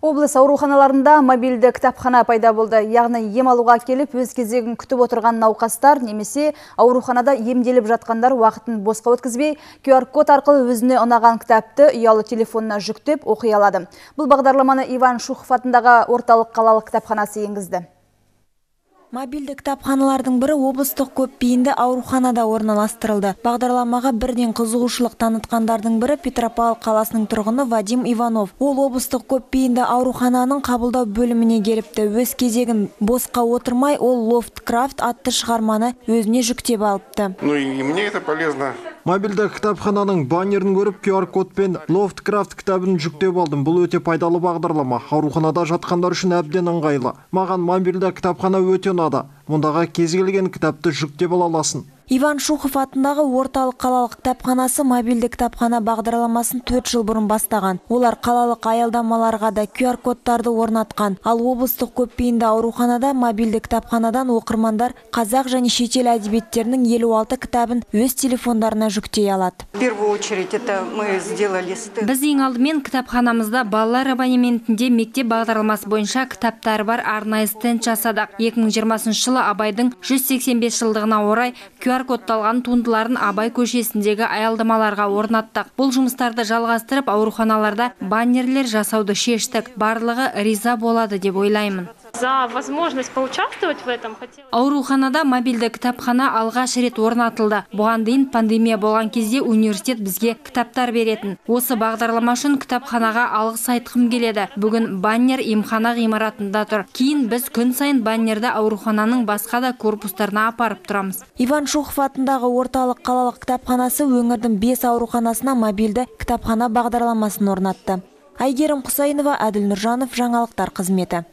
Облыс ауруханаларында мобильді кітапхана пайда болды. Яғни ем алуға келіп, өз кезегін күтіп отырған науқастар немесе ауруханада емделіп жатқандар уақытын босқа өткізбей, QR-код арқылы өзіне ұнаған кітапты ұялы телефонына жүктеп оқи алады. Бұл бағдарламаны Иван Шухов атындағы орталық қалалық кітапханасы енгізді. Мобильді кітапханалардың бірі облыстық көпбейінді ауруханада орналастырылды. Бағдарламаға бірден қызығушылық танытқандардың бірі Петропавл қаласының тұрғыны Вадим Иванов. Ол облыстық көпбейінді аурухананың қабылдау бөліміне келіпті. Өз кезегін босқа отырмай, ол Лофткрафт атты шығарманы өзіне жүктеп алыпты. Ну и мне это полезно. Мобильді кітапхананың баннерін көріп, QR-кодпен Лофткрафт кітабын жүктеп алдым. Бұл өте пайдалы бағдарлама. Ауруханада жатқандар үшін әбден ыңғайлы. Маған мобильді кітапхана өте ұнады. Мұндағы кез келген кітапты жүктеп ала аласың. Иван Шухов атындағы орталық қалалық кітапханасы мобильді кітапхана бағдарламасын 4 жыл бұрын бастаған. Олар қалалық аялдамаларға да QR-кодтарды орнатқан. Ал облыстық көпбейінді ауруханада мобильді кітапханадан оқырмандар қазақ және шетел әдебиеттерінің 56 кітабын өз телефондарына жүктей алады. В первую очередь это мы сделали стенд. Біз ең алдымен кітапханамызда балалар абонементінде мектеп бағдарламасы бойынша кітаптары бар арнайы стенд жасадық. 2020 жылы Абайдың 185 жылдығына орай QR-кодталған туындыларын Абай көшесіндегі аялдамаларға орнаттық. Бұл жұмыстарды жалғастырып, ауруханаларда баннерлер жасауды шештік. Барлығы риза болады деп ойлаймын. За возможность поучаствовать в этом хотела. Ауруханада мобильді кітапхана алғаш рет орнатылды. Бұған дейін пандемия болған кезде университет бізге кітаптар беретін. Осы бағдарлама үшін кітапханаға алғыс айтқым келеді. Бүгін баннер емхана ғимаратында тұр. Кейін біз күн сайын баннерді аурухананың басқа да корпустарына апарып тұрамыз. Иван Шухов атындағы орталық қалалық кітапханасы өңірдің 5 ауруханасына мобильді кітапхана бағдарламасын орнатты. Айгерім Құсайынова, Әділ Нұржанов, жаңалықтар қызметі.